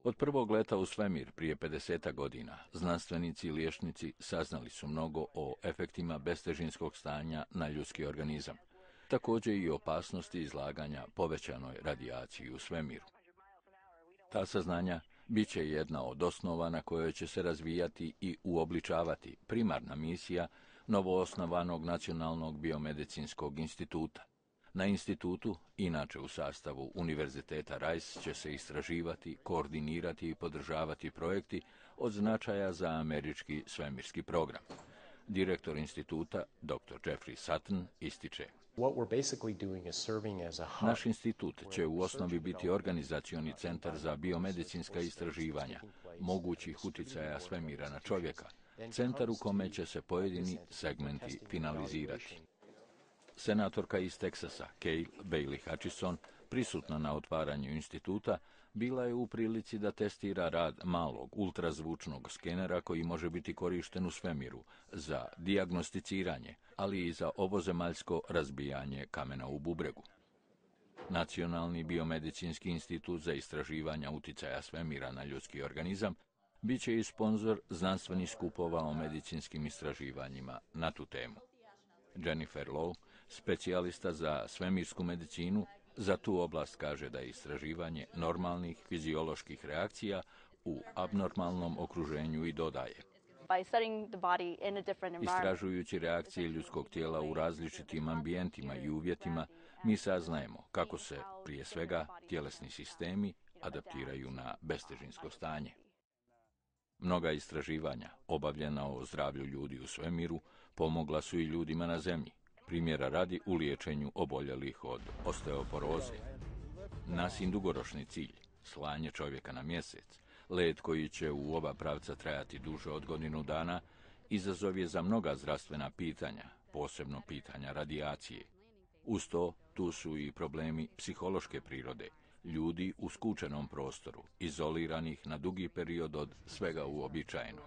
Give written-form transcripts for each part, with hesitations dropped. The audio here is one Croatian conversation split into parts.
Od prvog leta u svemir prije 50 godina, znanstvenici i liječnici saznali su mnogo o efektima bestežinskog stanja na ljudski organizam, također i opasnosti izlaganja povećanoj radijaciji u svemiru. Ta saznanja bit će jedna od osnova na kojoj će se razvijati i uobličavati primarna misija novoosnovanog Nacionalnog biomedicinskog instituta. Na institutu, inače u sastavu Univerziteta Rice, će se istraživati, koordinirati i podržavati projekti od značaja za američki svemirski program. Direktor instituta, dr. Jeffrey Sutton, ističe: Naš institut će u osnovi biti organizacioni centar za biomedicinska istraživanja, mogućih uticaja svemira na čovjeka, centar u kome će se pojedini segmenti finalizirati. Senatorka iz Teksasa, Cale Bailey Hutchison, prisutna na otvaranju instituta, bila je u prilici da testira rad malog ultrazvučnog skenera koji može biti korišten u svemiru za dijagnosticiranje, ali i za ovozemaljsko razbijanje kamena u bubregu. Nacionalni biomedicinski institut za istraživanja uticaja svemira na ljudski organizam bit će i sponzor znanstvenih skupova o medicinskim istraživanjima na tu temu. Jennifer Lowe, specijalista za svemirsku medicinu, za tu oblast kaže da je istraživanje normalnih fizioloških reakcija u abnormalnom okruženju i dodaje: Istražujući reakcije ljudskog tijela u različitim ambijentima i uvjetima, mi saznajemo kako se, prije svega, tjelesni sistemi adaptiraju na bestežinsko stanje. Mnoga istraživanja, obavljena o zdravlju ljudi u svemiru, pomogla su i ljudima na Zemlji, primjera radi u liječenju oboljelih od osteoporoze. Nasin dugoročni cilj, slanje čovjeka na mjesec, let koji će u oba pravca trajati duže od godinu dana, izazov je za mnoga zdravstvena pitanja, posebno pitanja radijacije. Uz to, tu su i problemi psihološke prirode, ljudi u skučenom prostoru, izoliranih na dugi period od svega uobičajenog.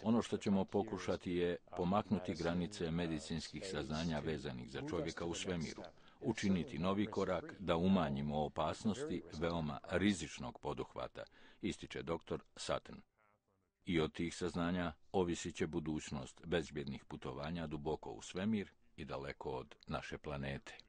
Ono što ćemo pokušati je pomaknuti granice medicinskih saznanja vezanih za čovjeka u svemiru, učiniti novi korak da umanjimo opasnosti veoma rizičnog poduhvata, ističe dr. Sutton. I od tih saznanja ovisit će budućnost bezbjednih putovanja duboko u svemir i daleko od naše planete.